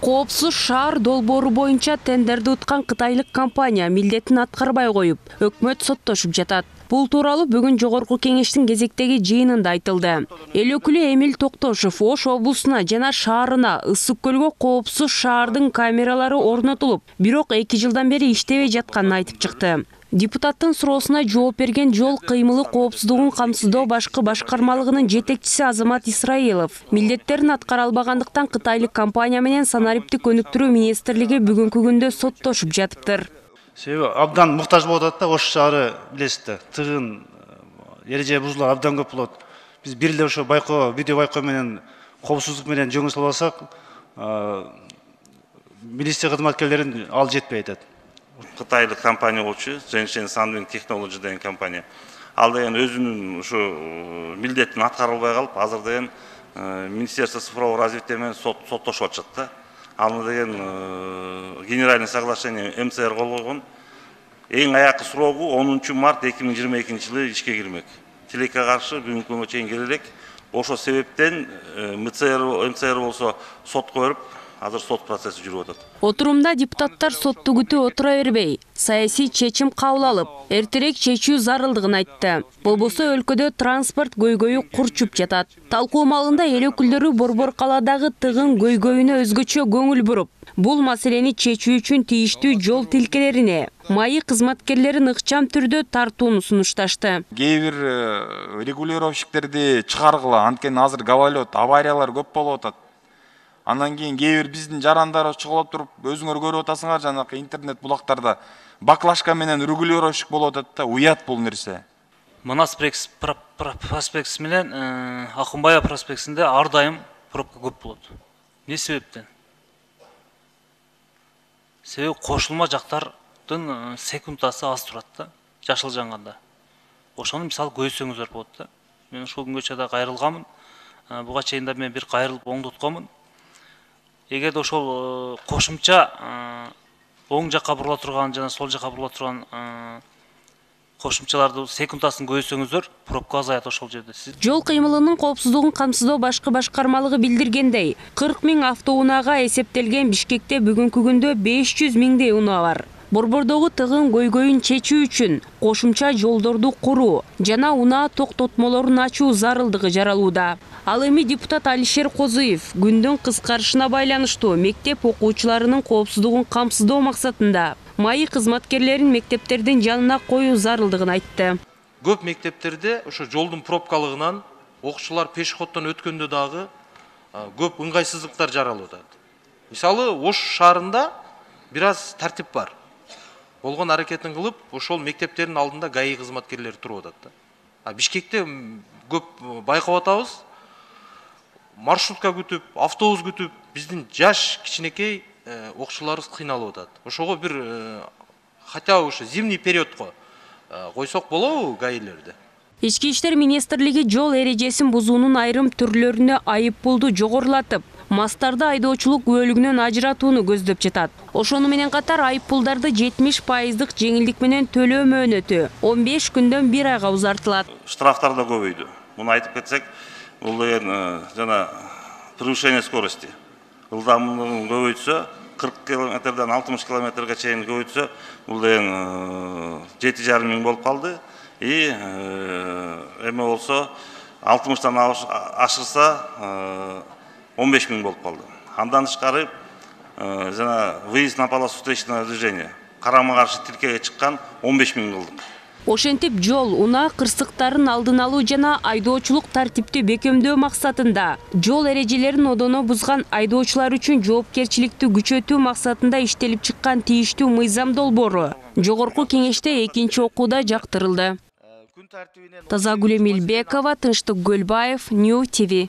Коопсуз шаар долбоору боюнча тендерди уткан кытайлык компания милдетин аткарбай коюп, өкмөт соттошуп жатат. Бул тууралуу бүгүн жогорку кеңештин кезектеги жыйынында айтылды. Эл өкүлү Эмил Токтошов Ош облусуна жана шаарына Ысык көлгө коопсуз шаардын камералары орнотулуп, бирок 2 жылдан бери иштебей жатканын айтып чыкты. Депутаттын суроосуна жооп берген жол кыймылы коопсуздугун камсыздоо башкы башкармалыгынын жетекчиси Азамат Исраилов милдеттерин аткара албагандыктан кытайлык компания менен санариптик өнүктүрүү министрлиги бүгүнкү күндө соттошуп жатыптыр. Себеби абдан муктаж болуп атат да, Ош шаары билесиздер, тыгын, эреже бузуулар абдан көп болот. Биз бир эле ошо байкоо, видео байкоо менен коопсуздук менен жөнгө салып алсак, министр кызматкерлерин ал жетпей атат. Кытайлык компания болчу, Zhengsheng Sandvin Technology деген компания. Ал деген өзүнүн ушу милдетин аткара албай калып, азыр деген Министерство цифрового развития менен соттошуп атышат да. Аны деген генеральный соглашение МЦР кол койгон. Эң аякы срогу 10 март 2022 жылы ишке кирмек. Тилекке каршы бүгүнкү күнгө чейин келе элек. Ошол себептен МЦР болсо сотко берип, азыр сот процесси жүрүп атат. Отурумда депутаттар сотту күтүп отура бербей, саясий чечим кабыл алып, эртерээк чечүү зарылдыгын айтты. Болбосо өлкөдө транспорт көйгөйү курчуп жатат. Талкуу маалында эл өкүлдөрү Борбор калаадагы тыгын көйгөйүнө өзгөчө көңүл буруп, бул маселени чечүү үчүн тийиштүү жол тилкелерине, МАИ кызматкерлерин ыкчам түрдө тартууну сунушташты. Кээ бир регулировщиктерди чыгаргыла, анткени азыр габалет, авариялар көп болуп атат. Андан кийин кээ бир биздин жарандар чыгып туруп, өзүңөр көрүп атасыңар, жанакы интернет булактарда баклашка менен регулировщик болуп атат да, уят бул нерсе. Манас проспектиси менен Акунбай проспектисинде ар дайым пробка көп болот. Не себептен? Себеби кошулма жактардын секундасы аз турат да, жашыл жанганда. Ошону мисалы көйсөңүздөр болот да. Мен ушул күнгө чейин кайрылганмын. Буга чейин да мен бир кайрылып оңдотконмун. Эгерде ошол кошумча оң жакка бурула турган жана сол жакка бурула турган кошумчаларды секундасын көйсөңүздөр, пробка азаят ошол жерде. Жол кыймылынын коопсуздугун камсыздоо башкы башкармалыгы билдиргендей, 40 000 автоунаага эсептелген Бишкекте бүгүнкү күндө 500 000 унаа бар. Борбордогу тыгын көйгөйүн чечүү үчүн кошумча жолдорду куруу жана унаа токтотмолорун ачуу зарылдыгы жаралууда. Ал эми депутат Алишер Козуев күндүн кыскарышына байланыштуу мектеп окуучуларынын коопсуздугун камсыздоо максатында МАИ кызматкерлерин мектептердин жанына коюу зарылдыгын айтты. Көп мектептерде ошо жолдун пробкалыгынан окуучулар пешеходдон өткөндө дагы көп ыңгайсыздыктар жаралып атат. Мисалы, Ош шаарында бир аз тартип бар. Болгон аракетин кылып, ошол мектептердин алдында ГАИ кызматкерлери туруп атат да. Бишкекте көп байкап атабыз. Маршрутка күтүп, автобус күтүп, биздин жаш кичинекей окуучуларыбыз кыйналып атат. Ошого бир хотя ушу зимний периодко койсок болобу ГАИлерди? Ички иштер министрлиги жол эрежесин бузуунун айрым түрлөрүнө айып пулду жогорулатып, мастарды айдоочулук бөлүгүнөн ажыратууну көздөп жатат. Ошону менен катар айып пулдарды 70% жеңилдик менен төлөө мөөнөтү 15 күндөн 1 айга узартылат. Штрафтар да көбөйдү. Муну айтып кетсек, бул деген жана превышение скорости. Ылдамдыгын көбөйтсө, 40 км-дан 60 км-га чейин көбөйтсө, бул деген 7,5 миң болуп калды. Эме болсо 60-тан ашырса 15 миң болуп калды. Андан тышкары жана выезд на полосу встречного движения карама-каршы тилкеге чыккан 15 миң кылдык. Ошентип жол унаа кырсыктарын алдын алуу жана айдоочулук тартипти бекемдөө максатында жол эрежелерин одоно бузган айдоочулар үчүн жоопкерчиликти күчөтүү максатында иштелип чыккан тийиштүү мыйзам долбоору жогорку кеңеште 2-окууда жактырылды. Тазагүл Эмилбекова, Тынчтык Гөлбаев, New TV.